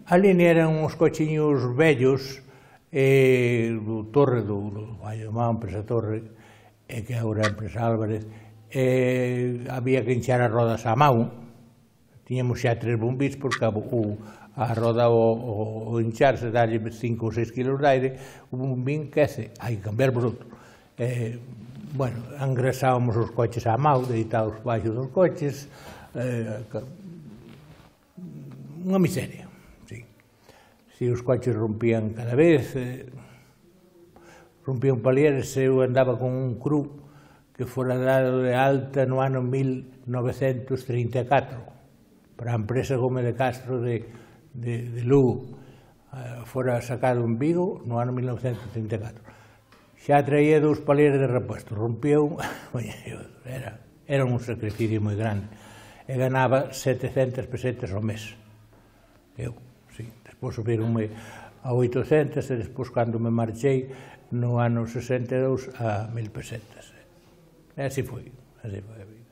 A línea eran uns cochiños vellos do Torre, do Vallemán, empresa Torre, que agora é empresa Álvarez, había que hinchar as rodas á mão. Tiñamos xa 3 bombis, porque a roda ao hincharse, darlle 5 ou 6 kilos de aire, o bombín quece, hai que cambiar por outro. Bueno, engrasábamos os coches á mão, deitados baixo dos coches, unha miseria. Si os coches rompían cada vez, rompían palieres, eu andaba con un cru que fora dado de alta no ano 1934 para a empresa Gómez de Castro de Lugo. Fora sacado en Vigo no ano 1934. Xa traía 2 palieres de repuesto, rompía un... Era un sacrificio moi grande. E ganaba 700 pesetas ao mes. Eu. Despois subironme a 800 e despois, cando me marchei, no ano 62, a 1000 pesetas. E así foi a vida.